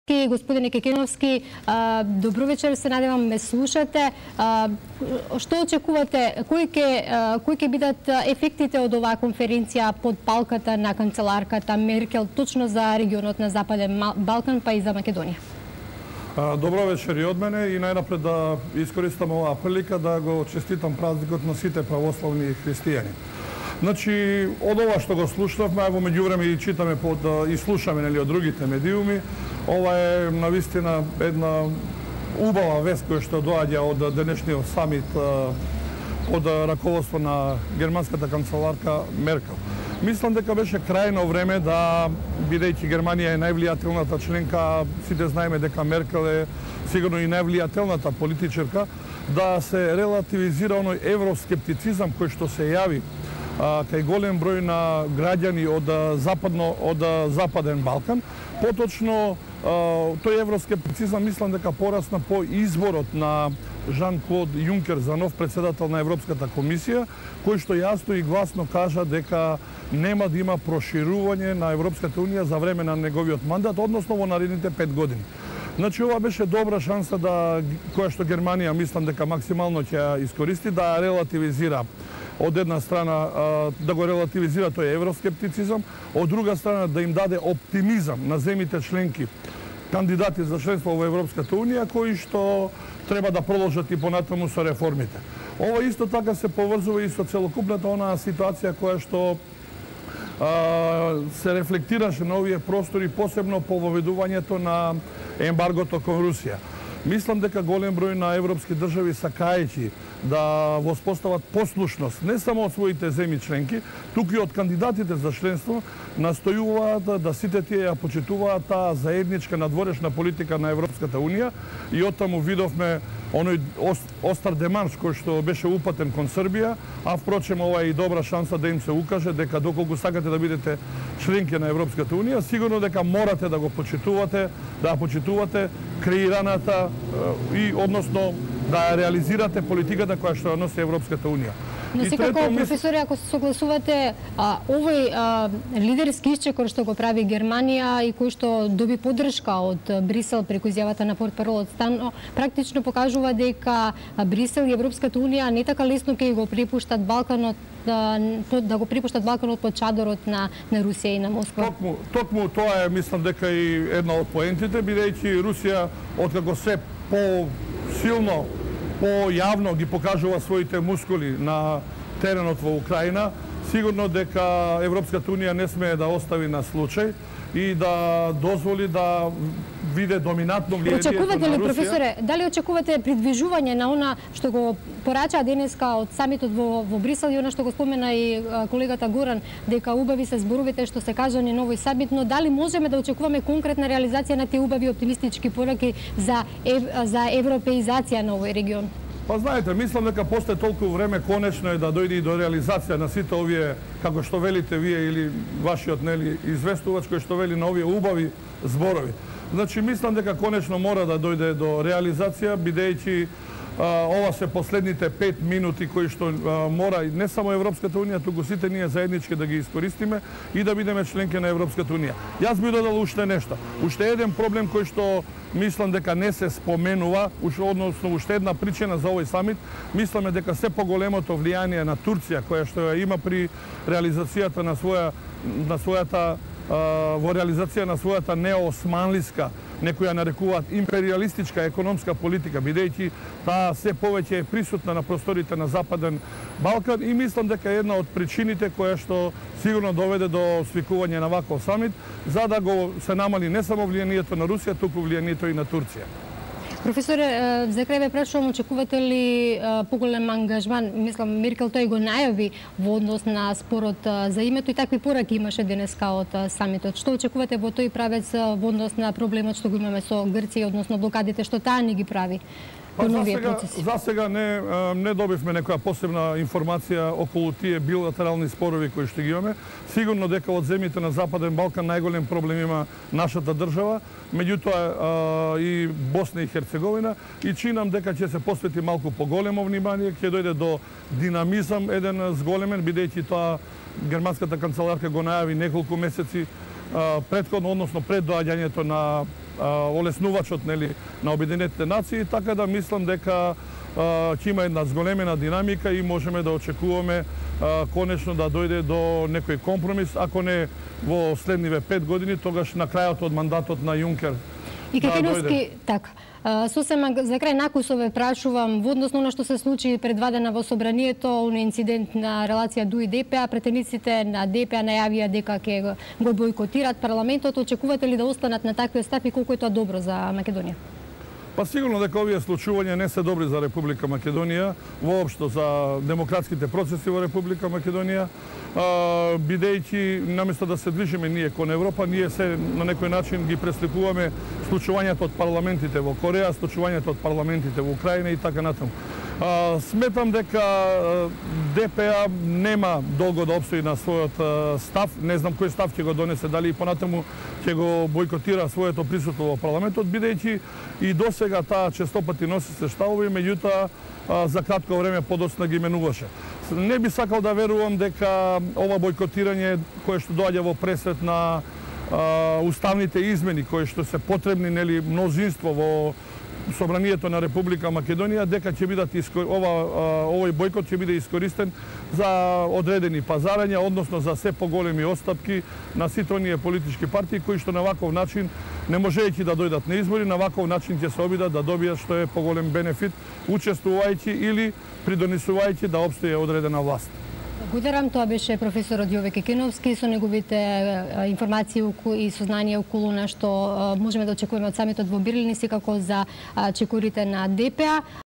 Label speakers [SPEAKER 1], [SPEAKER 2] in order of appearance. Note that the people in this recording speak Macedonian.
[SPEAKER 1] Кекеновски. Господине Кекеновски, добро вечер, се надевам ме слушате. Што очекувате, кои ќе бидат ефектите од оваа конференција под палката на канцеларката Меркел точно за регионот на Западен Балкан, па и за Македонија?
[SPEAKER 2] Добро вечер и од мене и најнапред да искористам оваа прилика да го честитам празникот на сите православни христијани. Значи, од ова што го слушнавме, во меѓувреме и читаме и слушаме од другите медиуми, ова е навистина една убава вест која што доаѓа од денешниот самит под раководство на германската канцеларка Меркел. Мислам дека беше крајно време да, бидејќи Германија е највлијателната членка, сите знаеме дека Меркел е сигурно и највлијателната политичарка, да се релативизира оној евроскептицизам кој што се јави кај голем број на граѓани од Западен Балкан. Поточно, тој евроскептицизам мислам дека порасна по изборот на Жан-Клод Јункер за нов председател на Европската комисија, кој што јасно и гласно кажа дека нема да има проширување на Европската унија за време на неговиот мандат, односно во наредните 5 години. Значи, ова беше добра шанса која што Германија мислам дека максимално ќе ја искористи, да ја релативизира од една страна да го релативизира тој евроскептицизам, од друга страна да им даде оптимизам на земите членки, кандидати за членство во Европската унија, кои што треба да продолжат и понатаму со реформите. Ова исто така се поврзува и со целокупната онаа ситуација која што се рефлектираше на овие простори, посебно по воведувањето на ембаргото кон Русија. Мислам дека голем број на европски држави сакајќи да воспостават послушност не само од своите земји членки, туку и од кандидатите за членство, настојуваат да сите тие ја почитуваат таа заедничка надворешна политика на Европската унија и оттаму видовме оној остар демарш кој што беше упатен кон Србија, а впрочем ова е и добра шанса да им се укаже дека доколку сакате да бидете членки на Европската унија, сигурно дека морате да го почитувате, да ја почитувате креираната и односно да ја реализирате политиката која што носи Европската унија.
[SPEAKER 1] Но секако, професоре, ако се согласувате, овој лидерски исчекор што го прави Германија и кој што доби поддршка од Брисел преку изјавата на портпаролот Стан, практично покажува дека Брисел и Европската унија не така лесно ќе го препуштат Балканот да го припуштат Балканот под чадорот на Русија и на Москва.
[SPEAKER 2] Токму тоа е, мислам дека и една од поентите, бидејќи Русија откако се по-силно, по-јавно ги покажува своите мускули на теренот во Украина, сигурно дека Европската унија не смее да остави на случај и да дозволи да виде доминантно влијанието на Русија.
[SPEAKER 1] Очекувате ли, професоре, дали очекувате придвижување на она што го порача денеска од самитот во Брисел и она што го спомена и колегата Горан, дека убави се зборовите што се кажани на овој самит, но дали можеме да очекуваме конкретна реализација на тие убави оптимистички пораки за европеизација на овој регион?
[SPEAKER 2] Па знаете, мислам дека после толку време конечно е да дојде и до реализација на сите овие, како што велите вие или вашиот известувач кој што вели на овие убави зборови. Значи, мислам дека конечно мора да дојде до реализација, бидејќи ова се последните 5 минути кои што мора не само Европската унија, туку сите ние заеднички да ги искористиме и да бидеме членки на Европската унија. Јас би додал уште нешто. Уште еден проблем кој што мислам дека не се споменува, односно уште една причина за овој самит, мисламе дека се поголемото влијание на Турција, која што ја има при реализацијата на својата во реализација на својата неосманлиска, некои ја нарекуваат империалистичка економска политика, бидејќи таа се повеќе е присутна на просторите на Западен Балкан и мислам дека е една од причините која што сигурно доведе до свикување на ваков самит, за да го се намали не само влијанието на Русија, туку влијанието и на Турција.
[SPEAKER 1] Професоре, за крај ве прашувам, очекувате ли поголем ангажман? Мислам, Меркел тој го најави во однос на спорот за името и такви пораки имаше денеска од самитот. Што очекувате во тој правец во однос на проблемот што го имаме со Грција, односно блокадите, што таа ни ги прави?
[SPEAKER 2] За сега не добивме некоја посебна информација околу тие билатерални спорови кои што ги имаме. Сигурно дека од земјите на Западен Балкан најголем проблем има нашата држава, меѓутоа и Босна и Херцеговина, и чинам дека ќе се посвети малку поголемо внимание, ќе дојде до динамизам еден зголемен, бидејќи тоа германската канцеларка го најави неколку месеци претходно, односно пред доаѓањето на олеснувачот на Обединетите нации, така да мислам дека ќе има една зголемена динамика и можеме да очекуваме конечно да дојде до некој компромис, ако не во следниве 5 години, тогаш на крајот од мандатот на Јункер.
[SPEAKER 1] И Кекиновски, така. Сосема за крај накусове прашувам во односно на што се случи пред 2 дена во собранието, оној инцидент на релација ДУИ ДПА, претениците на ДПА најавија дека ќе го бойкотират парламентот. Очекувате ли да останат на таквиот став и колку е тоа добро за Македонија?
[SPEAKER 2] Па сигурно дека овие случувања не се добри за Република Македонија, воопшто за демократските процеси во Република Македонија, бидејќи наместо да се движиме ние кон Европа, ние се на некој начин ги пресликуваме случувањата од парламентите во Кореја, случувањата од парламентите во Украина и така натаму. Сметам дека ДПА нема долго да обстои на својот став. Не знам кој став ќе го донесе, дали и понатаму ќе го бойкотира своето присуство во парламентот, бидејќи и досега таа честопати носи се ставови, меѓутоа за кратко време подоцна ги менуваше. Не би сакал да верувам дека ова бойкотирање кое што доаѓа во пресрет на уставните измени кои што се потребни мнозинство во Собранието на Република Македонија, дека ќе бидат овој бојкот ќе биде искористен за одредени пазарања, односно за се поголеми отстапки на сите оние политички партии кои што на ваков начин, не можејќи да дојдат на избори, на ваков начин ќе се обидат да добијат што е поголем бенефит, учествувајќи или придонесувајќи да обстои одредена власт.
[SPEAKER 1] Благодарам, тоа беше професорот Јове Кекиновски со неговите информации и сознанија околу на што можеме да очекуваме од самитот во Берлин и секако за чекорите на ДПА.